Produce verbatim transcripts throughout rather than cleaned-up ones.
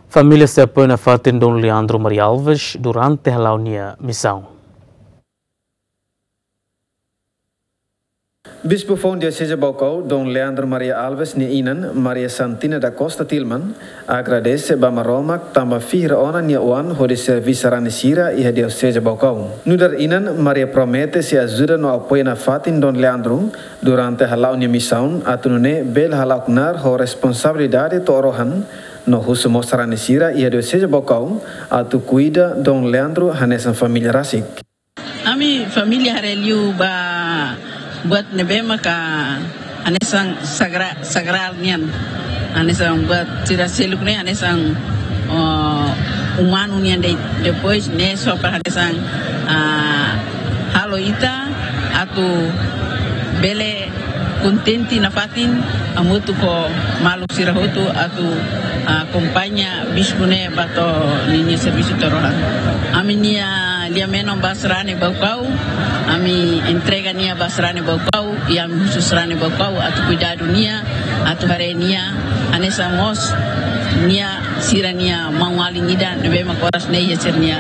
Família sei apoia nafatin Dom Leandro Maria Alves durante hala'o nia misaun. Bispu Foun Dioseze Baucau, Dom Leandro Maria Alves nia inan, Maria Santina da Costa Tilman, agradese ba Maromak tanba fihir ona nia oan hodi serví sarani sira iha Dioseze Baucau. Nu'udar inan, Maria promete sei ajuda no apoia nafatin Dom Leandro durante hala'o nia misaun, atu nune'e bele hala'o knaar ho responsabilidade to'o rohan, no husu mós sarani sira iha Dioseze Baucau atu kuida Dom Leandro hanesan família rasik. Ami família haree liu ba buat ne'ebé maka hanesan sagra-, sagrál nian. Hanesan buat sira seluk ne'e hanesan, oh, umanu nian de'it. Depois ne'e só para hanesan, ah, halo ita atu bele kontente nafatin, hamutuk ho maluk sira hotu atu, ah, akompaña bispu ne'e ba to'o ninia servisu to'o rohan. Ami-nia lia-menon ba sarani Baucau, ami entrega nia ba sarani Baucau, i ami husu sarani Baucau atu kuidadu nia, atu haree nia, hanesan mós nia sira-nia maun-alin ida ne'ebé mak oras ne'e iha sira-nia,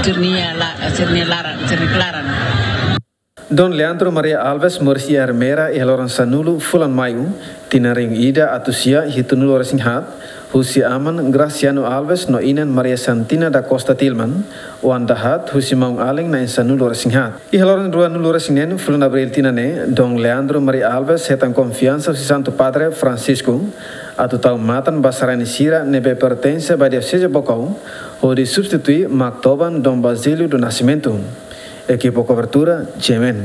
sira-nia la-, sira-nia laran, sira-nia klaran. Dom Leandro Maria Alves moris iha Ermera iha loron sanulu fulan Maiu, tinan rihun ida atus sia hitunulu resin haat, husi aman Graciano Alves no inan Maria Santina da Costa Tilman, oan dahaat husi maun-alin na'in sanulu resin haat. Iha loron ruanulu resin neen fulan Abríl tinan ne'e, Dom Leandro Maria Alves hetan konfiansa husi Santu Padre Francisco atu tau matan ba sarani sira ne'ebé pertense ba Dioseze Baucau, hodi substitui mak toban Dom Basílio do Nascimento. Ekipa kobertura, G M N.